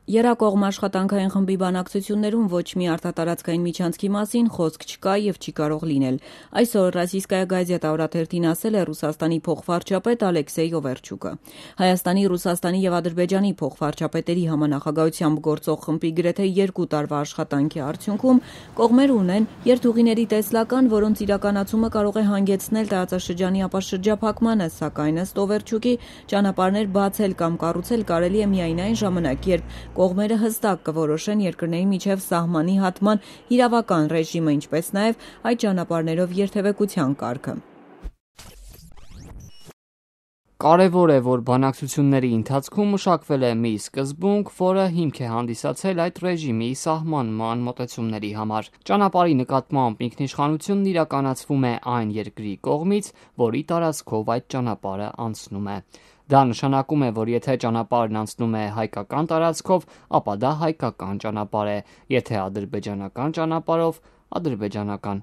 Երակողմ աշխատանքային խմբի բանակցություններում ոչ մի արտատարածքային միջանցքի մասին խոսք չկա եւ չի կարող լինել։ Այսօր Ռոսիյսկայա գազետա օրաթերթին ասել է Ռուսաստանի փոխվարչապետ Ալեքսեյ Օվերչուկը։ Հայաստանի, Ռուսաստանի եւ Ադրբեջանի փոխվարչապետերի համանախագահությամբ գործող խմբի գրեթե 2 տարվա աշխատանքի արդյունքում կողմերը ունեն երթուղիների տեսլական, որոնց իրականացումը կարող է հանգեցնել տարածաշրջանի ապաշրջափակմանը, սակայն ըստ Օվերչուկի ճանապարհներ բացել կամ կառուցել կարելի է միայն այն ժամանակ, երբ կողմերը հստակ կորոշեն երկրների միջև սահմանի հատման իրավական ռեժիմը, ինչպես նաև այդ ճանապարհներով երթևեկության կարգը։ Կարևոր է, որ բանակցությունների ընթացքում մշակվել է մի սկզբունք, որը հիմք է հանդիսացել այդ ռեժիմի սահմանման մոտեցումների համար։ Ճանապարհի նկատմամբ ինքնիշխանությունն իրականացվում է այն երկրի կողմից, որի տարածքով այդ ճանապարհը անցնում է։ Դա նշանակում է, որ եթե ճանապարհն անցնում է հայկական տարածքով, ապա դա հայկական ճանապարհ է, եթե ադրբեջանական ճանապարհով՝ ադրբեջանական։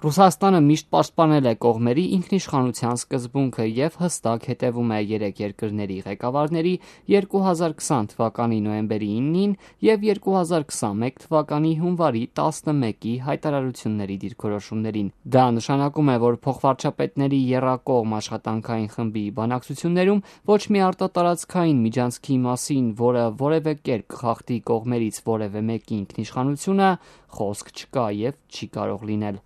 Ռուսաստանը միշտ պաշտպանել է կողմերի ինքնիշխանության սկզբունքը եւ հստակ հետևում է 3 երկրների ղեկավարների 2020 թվականի նոյեմբերի 9-ին եւ 2021 թվականի հունվարի 11-ի հայտարարությունների դիրքորոշումներին։ Դա նշանակում է, որ փոխվարչապետների եռակողմ աշխատանքային խմբի բանակցություններում ոչ մի արտատարածքային միջանցքի մասին, որը որևէ կերպ կխախտի կողմերից որևէ մեկի ինքնիշխանությունը, խոսք չկա եւ չի կարող լինել։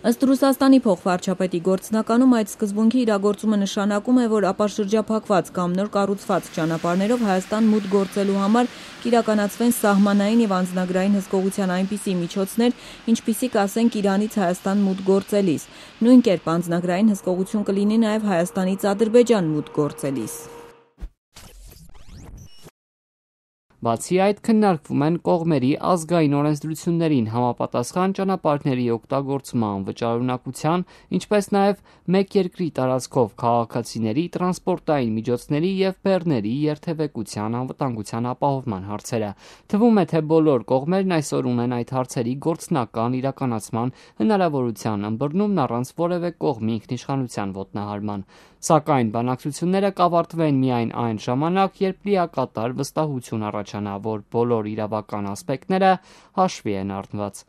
Ըստ Ռուսաստանի փոխվարչապետի գործնականում այդ սկզբունքի իրագործումը նշանակում է, որ ապաշրջափակված կամ նոր կառուցված ճանապարհներով Հայաստան մուտք գործելու համար կիրականացվեն սահմանային եւ անձնագրային հսկողության այնպիսի միջոցներ, ինչպիսիք ասենք Իրանից Հայաստան մուտք գործելիս։ Նույն կերպ անձնագրային հսկողություն կլինի նաեւ Հայաստանից Ադրբեջան մուտք գործելիս։ Բացի այդ, քննարկվում են կողմերի ազգային օրենսդրություններին համապատասխան ճանապարհների օգտագործման վճարունակության, ինչպես նաև մեկ երկրի տարածքով քաղաքացիների, տրանսպորտային միջոցների եւ բեռների երթևեկության անվտանգության ապահովման հարցերը։ Թվում է, թե բոլոր կողմերն այսօր ունեն այդ հարցերի գործնական իրականացման հնարավորության ըմբռնումն առանց որևէ կողմի ինքնիշխանության ոտնահարման։ Սակայն բանակցությունները կավարտվեն միայն այն ժամանակ, երբ լիակատար վստահություն առաջանա, որ բոլոր իրավական ասպեկտները հաշվի են առնված։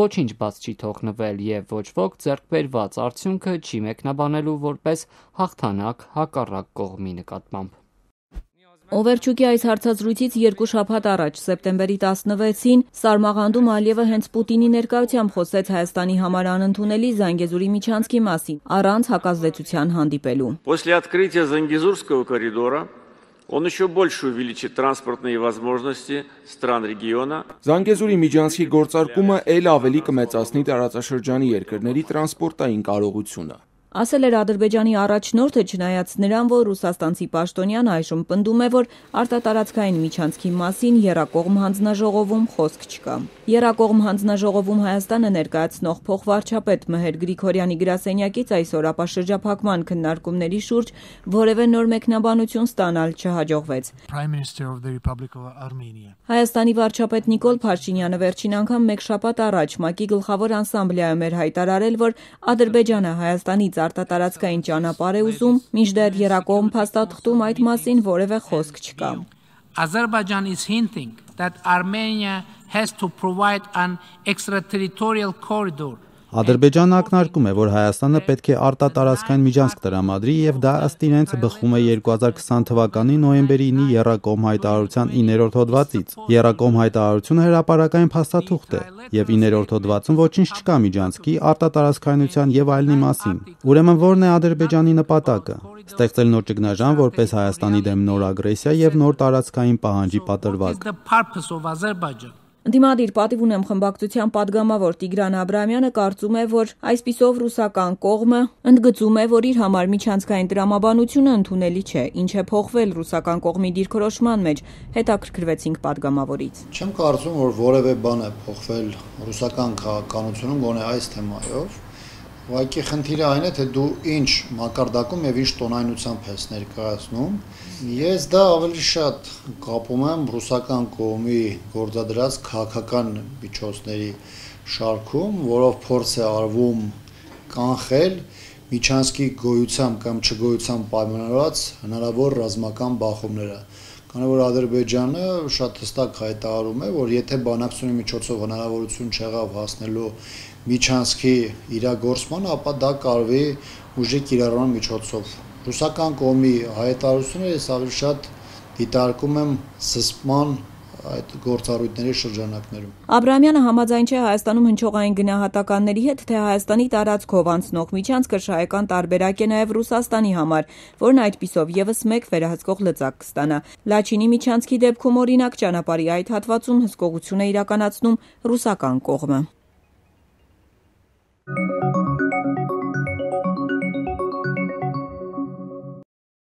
Ոչինչ բաց չի թողնվել եւ ոչ ոք ձեռք բերված արդյունքը չի մեկնաբանելու որպես հաղթանակ հակառակ կողմի նկատմամբ։ Օվերչուկի այս հարցազրույցից 2 շաբաթ առաջ, սեպտեմբերի 16-ին, Սարմաղանդում Ալիևը հենց Պուտինի ներկայությամբ խոսեց Հայաստանի համար անընդունելի Զանգեզուրի միջանցքի մասին, առանց հակազդեցության հանդիպելու։ После открытия Зангезурского коридора он еще больше увеличит транспортные возможности стран региона. Զանգեզուրի միջանցքի գործարկումը ել ավելի կմեծացնի տարածաշրջանի երկրների տրանսպորտային կարողությունը։ Ասել էր Ադրբեջանի առաջնորդը, չնայած նրան, որ ռուսաստանցի պաշտոնյան այժմ պնդում է, որ արտատարածքային միջանցքի մասին եռակողմ հանձնաժողովում խոսք չկա։ Եռակողմ հանձնաժողովում Հայաստանը ներկայացնող փոխվարչապետ Մհեր Գրիգորյանի գրասենյակից այսօր ապաշրջափակման քննարկումների շուրջ որևէ նոր մեկնաբանություն ստանալ չհաջողվեց։ Հայաստանի վարչապետ Նիկոլ Փաշինյանը վերջին անգամ մեկ շաբաթ առաջ ՄԱԿ-ի գլխավոր ասամբլեայում էր հայտարարել, որ Ադրբեջանը Հայաստանից արտատարածքային ճանապարհ է ուզում, մինչդեռ եռակողմ փաստաթղթում այդ մասին որևէ խոսք չկա։ Azerbaijan is hinting that Armenia has to provide an extraterritorial corridor. Ադրբեջանը ակնարկում է, որ Հայաստանը պետք է արտատարածքային միջանցք տրամադրի եւ դա ըստ իրենց բխում է 2020 թվականի նոյեմբերի 9-ի եռակողմ հայտարարության 9-րդ հոդվածից։ Եռակողմ հայտարարությունը հրապարակային փաստաթուղթ է եւ 9-րդ հոդվածում ոչինչ չկա միջանցքի, արտատարածքայնության եւ այլնի մասին։ Ուրեմն ո՞րն է Ադրբեջանի նպատակը։ Ստեղծել նոր ճգնաժամ որպես Հայաստանի դեմ նոր ագրեսիա եւ նոր տարածքային պահանջի պատրվակ։ Ընդդիմադիր պատիվ ունեմ խմբակցության падգամավոր Տիգրան Աբրահամյանը կարծում է, որ այսպիսով ռուսական կողմը ընդգծում է, որ իր համար միջանցքային տրամաբանությունը ընդունելի չէ, ինչ է փոխվել ռուսական կողմի դիրքորոշման մեջ, հետաքրքրվեցինք падգամավորից։ Չեմ կարծում, որ որևէ բան է փոխվել ռուսական քաղաքականությունում, գոնե այս թեմայով։ Ուղղակի խնդիրը այն է, թե դու ինչ մակարդակում եւ ինչ տոնայնությամբ ես ներկայացնում։ Ես դա ավելի շատ կապում եմ ռուսական կողմի գործադրած քաղաքական միջոցների շարքում, որով փորձ է արվում կանխել միջանցքի գոյությամբ կամ չգոյությամբ պայմանավորված հնարավոր ռազմական բախումները Քանի որ Ադրբեջանը շատ հստակ հայտարարում է, որ եթե բանակցությունների միջոցով հնարավորություն չեղավ հասնելու միջանցքի իրագործման, ապա դա կարվի ուժի կիրառման միջոցով։ Ռուսական կողմի հայտարարությունը ես ավելի շատ դիտարկում եմ զսպման այդ գործառույթների շրջանակներում։ Աբրահամյանը համաձայն չէ Հայաստանում հնչողային գնահատականների հետ, թե Հայաստանի տարածքով անցնող միջանցքը շահեկան տարբերակ է նաև Ռուսաստանի համար, որն այդպիսով եւս մեկ վերահսկող լծակ կստանա։ Լաչինի միջանցքի դեպքում օրինակ ճանապարհի այդ հատվածում հսկողություն է իրականացնում ռուսական կողմը։